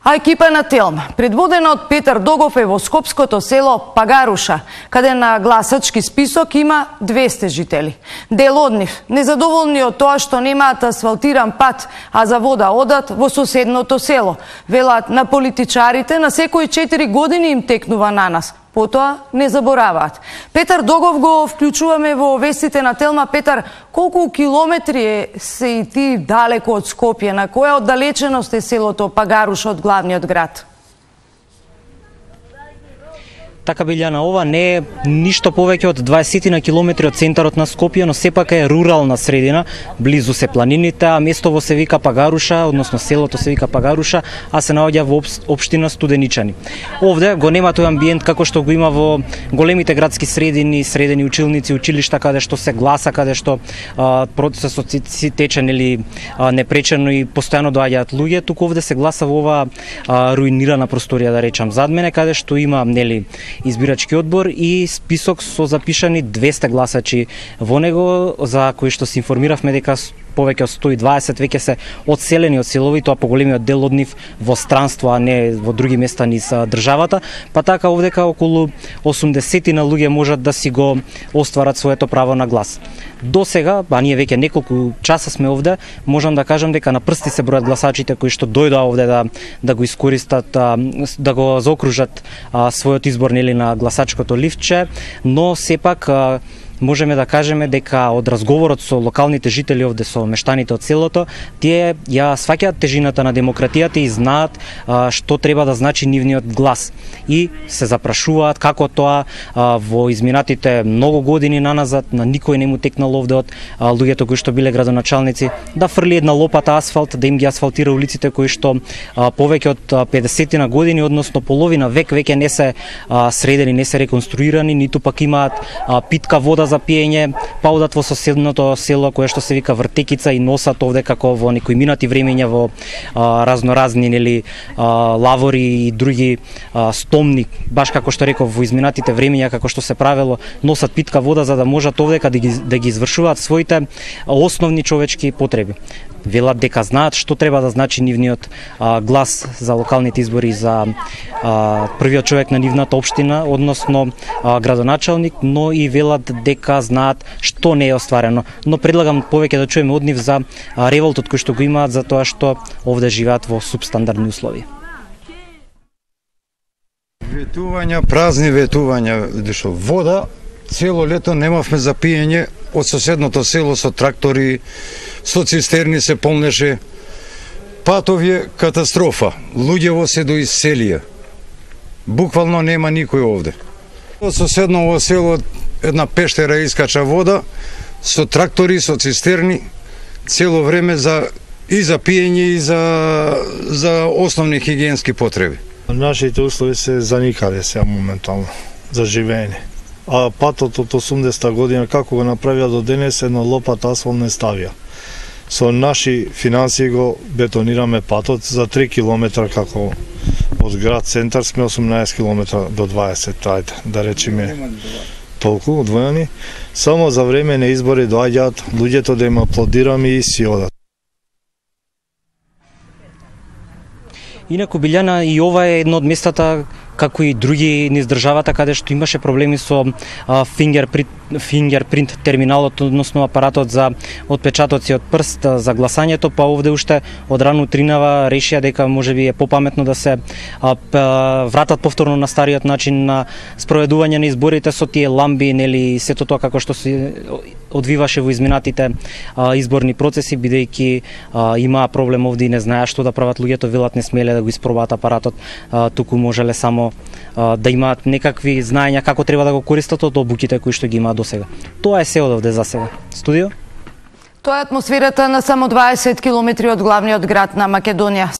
А екипа на Телма, предводена од Петар Догов, е во скопското село Пагаруша, каде на гласачки список има 200 жители. Дел од нив, незадоволни од тоа што немаат асфалтиран пат, а за вода одат во соседното село. Велат на политичарите, на секои 4 години им текнува на нас. Потоа не забораваат. Петар Догов го вклучуваме во вестите на Телма. Петар, колку километри се и ти далеко од Скопје? На која оддалеченост е селото Пагаруш од главниот град? Така, Билјана, ова не е ништо повеќе од 20 на километри од центарот на Скопје, но сепак е рурална средина, близу се планините, а местово се вика Пагаруша, односно селото се вика Пагаруша, а се наоѓа во општина Студеничани. Овде го нема тој амбиент како што го има во големите градски средини, средени училници, училишта, каде што се гласа, каде што процесот си тече непречено и постојано доаѓаат луѓе. Туку овде се гласа во ова руинирана просторија, да речам, зад мене, каде што има избирачки одбор и список со запишани 200 гласачи во него, за кои што се информиравме дека повеќе од 120 веќе се одселени од селови, тоа поголемиот дел од нив во странство, а не во други места низ државата, па така овдека околу 80 на луѓе можат да си го остварат своето право на глас. До сега, а ние веќе неколку часа сме овде, можам да кажам дека на прсти се бројат гласачите кои што дојдоа овде да го искористат, да го заокружат својот избор на гласачкото ливче, но сепак можеме да кажеме дека од разговорот со локалните жители овде, со мештаните од селото, тие ја сваќаат тежината на демократијата и знаат што треба да значи нивниот глас. И се запрашуваат како тоа во изминатите многу години наназад на никој не му текнал овде од луѓето кои што биле градоначалници да фрли една лопата асфалт, да им ги асфалтира улиците кои што повеќе од 50 на години, односно половина век веќе не се средени, не се реконструирани, ниту пак имаат питка вода за пиење, па одат во соседното село кое што се вика Вртекица и носат овде како во некои минати времења во разноразни лавори и други стомни, баш како што реков во изминатите времења како што се правело, носат питка вода за да можат овдека да ги извршуваат своите основни човечки потреби. Велат дека знаат што треба да значи нивниот глас за локалните избори за првиот човек на нивната општина, односно градоначалник, но и велат дека знаат што не е остварено. Но предлагам повеќе да чуеме од нив за револтот кој што го имаат за тоа што овде живеат во субстандардни услови. Ветувања, празни ветувања, дешо вода, цело лето немавме за пиење, од соседното село со трактори, со цистерни се полнеше. Патови катастрофа, луѓево се до иселија. Буквално нема никој овде. Од соседново село една пештера искача вода, со трактори, со цистерни, цело време и за пиење и за основни хигиенски потреби. Нашите услови се заникале сега моментално за живење. А патот од 80-та година како го направија до денес, едно лопат асфалт не ставија. Со наши финансии го бетонираме патот за 3 километра, како од град центар сме 18 километра до 20, ајде, да речеме толку одвоени. Само за време на избори доаѓаат луѓето да им аплодираме и си одат. Инаку, Билјана, и ова е едно од местата, како и други низ државата, каде што имаше проблеми со фингерпринт терминалот, односно апаратот за отпечатоци од прст за гласањето, па овде уште од рано утринава решија дека можеби е попаметно да се вратат повторно на стариот начин на спроведување на изборите со тие ламби, нели, сето тоа како што се одвиваше во изминатите изборни процеси, бидејќи имаа проблем овде и не знаеа што да прават луѓето, велат не смеле да го испробаат апаратот, туку можеле само да имаат некакви знаења како треба да го користат од обуките кои што ги имаат до сега. Тоа е се од овде за сега. Студио? Тоа е атмосферата на само 20 километри од главниот град на Македонија.